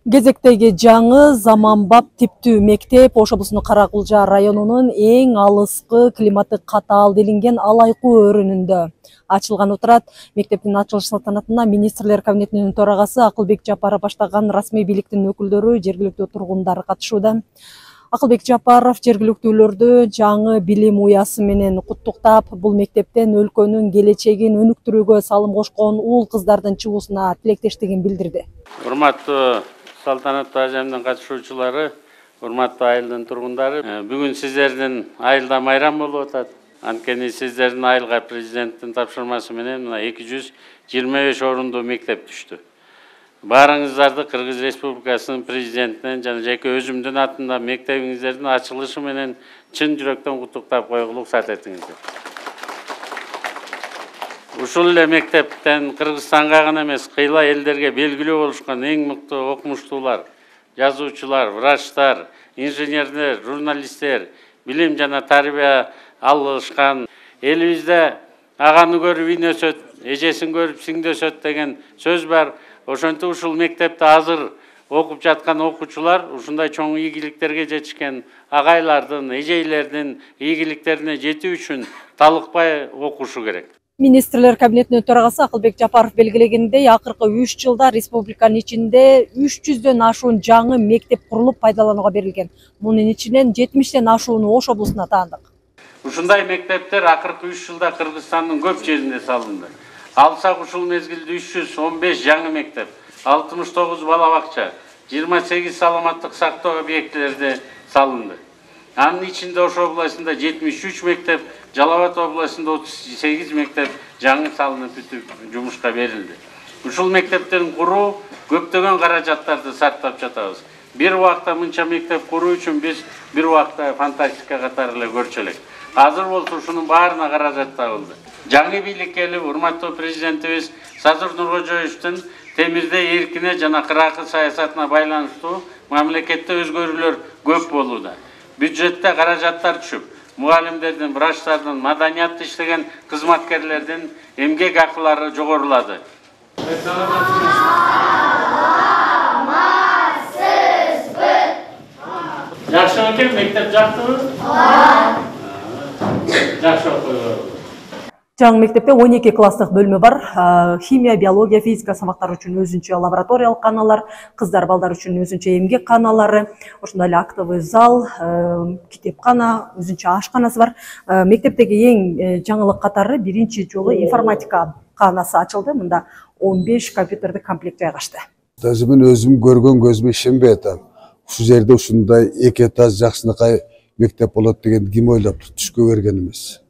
Кезектеги жаңы заманбап типтүү мектеп Ош облусунун Каракулжа районунун эң алыскы климаты катаал делинген Алайкуу өрүнүндө ачылган отурат. Мектептин ачылыш салтанатына министрлер кабинетинин төрагасы Акылбек Жапаров баштаган расмий бийликтин өкүлдөрү, жергиликтүү тургундар катышууда. Акылбек Жапаров жергиликтүүлөрдү жаңы билим уясы менен куттуктап, бул мектептен өлкөнүн келечегин өнүктүрүүгө салым кошкон уул кыздардын чыгуусуна тилектештигин билдирди. Урматтуу салтанаттуу ажамдын катышуучулары, урматтуу айылдын тургундары, бүгүн сиздердин айылда майрам болуп атат. Анткени сиздердин айылга президенттин тапшырмасы менен 225 орундуу мектеп түштү. Баарыңыздарды Кыргыз Республикасынын президентинен жана жеке өзүмдүн атында мектебиңиздердин ачылышы менен чын жүрөктөн куттуктап койгулук саат этиңиздер. Ушул эле мектептен Кыргызстанга гана эмес, кыйла элдерге белгилүү болушкан эң мыктуу окумуштуулар, жазуучулар, врачтар, инженерлер, журналисттер, билим жана тарбия алышкан. Элибизде аганы көрүп ин өсөт, эжесин көрүп сиңди өсөт деген сөз бар. Ошентип ушул мектепте азыр окуп жаткан окуучулар ушундай чоң ийгиликтерге жетишкен агайлардын, эжейлердин ийгиликтерине жетүү үчүн талыкпай окушу керек. Министрлер кабинетинин төрагасы Акылбек Жапаров белгилегендей, акыркы 3 жылда республиканын ичинде 300дөн ашуун жаңы мектеп курулуп пайдаланууга берилген. Мунун ичинен 70ден ашууну Ош облусуна таандык. Ушундай мектептер акыркы 3 жылда Кыргызстандын көп жеринде салынды. Алсак ушул мезгилде 315 жаңы мектеп, 69 бала бакча, 28 саламаттык сактоо объектилерде салынды. Анын ичинде Ош областында 73 мектеп, Жалал Абад областында 38 мектеп жаңы салынып бүтүп жумушка берилди. Ушул мектептерин куруу көптөгөн каражаттарды сарптап жатабыз. Бир убакта мынча мектеп куруу үчүн биз бир убакта фантастика катары эле көрчү элек. Азыр болсо ушунун баарына каражат табылды. Жаңы бийликке келип, урматтуу президентибиз Садыр Нуркожоевичтин темирде эркине жана кыракы саясатына байланыштуу мамлекетте өзгөрүүлөр көп болууда. Бюджетте каражаттар түшүп, мугалимдердин, врачтардын, маданиятты иштеген кызматкерлердин эмгек акылары жогорулады. Жакшы экен, мектеп жактыбы? Жакшы окуйбу. Жаңы мектепте 12 класстык бөлмө бар. Химия, биология, физика сабактары үчүн өзүнчө лабораториялык каналар, кыздар балдар үчүн өзүнчө эмгек каналары, ошондой эле актовый зал, китепкана, өзүнчө ашканасы бар. Мектептеги эң жаңылык катары биринчи жолу информатика канасы ачылды. Мында 15 компьютердик комплект жайгашты. Мен өзүм көргөн көзүмө ишенбей атам. Ушул жерде ушундай эки этаж жакшынакай мектеп болот деген ким ойлоп түшкө берген эмес.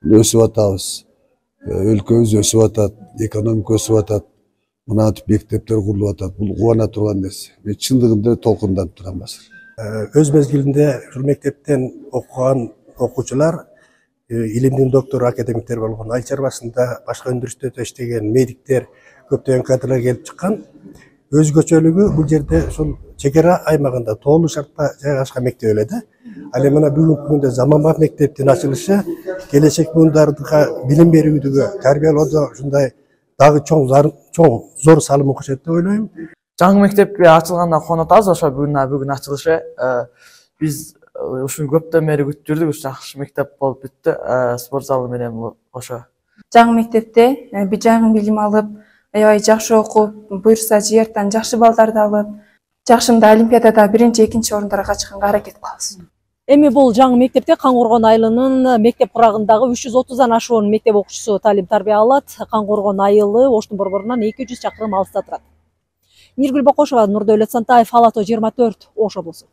Өсүп атабыз. Өлкөбүз өсүп атат, экономика өсүп атат. Мынантип мектептер курулуп атат. Бул кубана турган нерсе. Мен чындыгында толкунданып турам азыр. Өз мезгилинде ушул мектептен окуган окуучулар илимдин доктору, академиктер болгон, айыл чарбасында, башка өндүрүштөрдө иштеген медиктер, көптөгөн кадрлар келип чыккан. Өзгөчөлүгү бул жерде ушул чек ара аймагында тоолуу шартта жайгашкан мектеп эле да. Ал эми мына бүгүнкү күндө заманбап мектептин ачылышы келечек буундарга билим берүүдөгө, тарбиялоодо ушундай дагы чоң зор салым кошот деп ойлойм. Жаңы мектепке ачылганына кубанып атабыз. Ошо бүгүн ачылышы биз ушуну көптөн бери күтүп жүрдүк. Жакшы мектеп болуп бүттү. Спорт залы менен ошо. Жаңы мектепте жаңы билим алып, аябай жакшы окуп, буюрса жыйыртан жакшы балдарды алып, жакшымда олимпиадада 1-2 орундарга чыкканга аракет кылабыз. Эми бул жаңы мектепте Каңкоргон айылынын мектеп курагындагы 330дан ашуун мектеп окуучусу талим тарбия алат. Каңкоргон айылы Оштун борборунан 200 чакырым алыста турат. Ниргүл Бокошова, Нурдөөлөт Сантаев, Ала То 24, Ош облусу.